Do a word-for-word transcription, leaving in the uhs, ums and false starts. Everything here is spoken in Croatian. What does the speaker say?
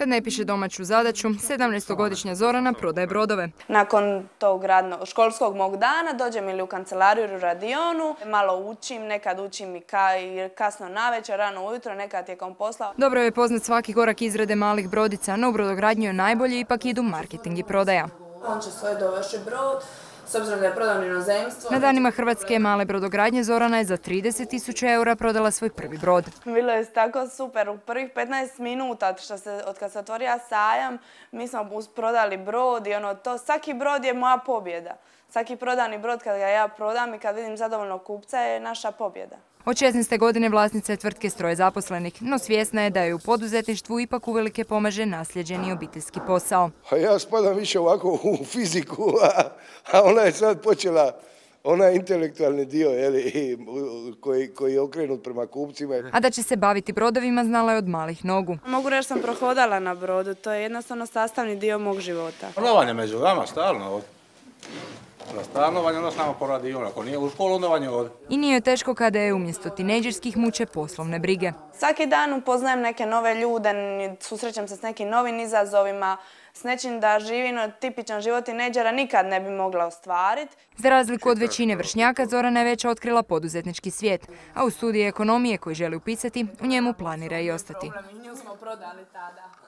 Kad ne piše domaću zadaću, sedamnaestogodišnja Zorana prodaje brodove. Nakon tog radno, školskog mog dana dođem ili u kancelariju ili u radionu, malo učim, nekad učim i ka, kasno navečer, rano ujutro, nekad tijekom posla. Dobro je poznat svaki korak izrade malih brodica, no u brodogradnju je najbolje ipak idu marketing i prodaja. On će svoje dovesti brod, s obzirom da je prodan inozemstvo. Na danima Hrvatske male brodogradnje Zorana je za trideset tisuća eura prodala svoj prvi brod. Bilo je tako super, u prvih petnaest minuta što se, od kad se otvorio sajam, mi smo prodali brod i ono to, svaki brod je moja pobjeda. Svaki prodani brod kad ga ja prodam i kad vidim zadovoljnog kupca je naša pobjeda. Od šesnaeste godine vlasnica je tvrtke s troje zaposlenih, no svjesna je da je u poduzetništvu ipak uvelike pomaže nasljeđeni obiteljski posao. A ja spadam više ovako u fiziku, a, a ona je sad počela onaj intelektualni dio jeli, koji, koji je okrenut prema kupcima. A da će se baviti brodovima znala je od malih nogu. Mogu reći da sam prohodala na brodu, to je jednostavno sastavni dio mog života. Stanovanje među vama stalno. Za stanovanje onda samo po radionu, ako nije u školu onda vanje ovdje. I nije joj teško kada je umjesto tinejdžerskih muče poslovne brige. Svaki dan upoznajem neke nove ljude, susrećem se s nekim novim izazovima, s nečim da živim tipičan život tinejdžera nikad ne bi mogla ostvariti. Za razliku od većine vršnjaka, Zorana je već otkrila poduzetnički svijet, a u studiju ekonomije koji želi upisati, u njemu planira i ostati. Nju smo prodali tada.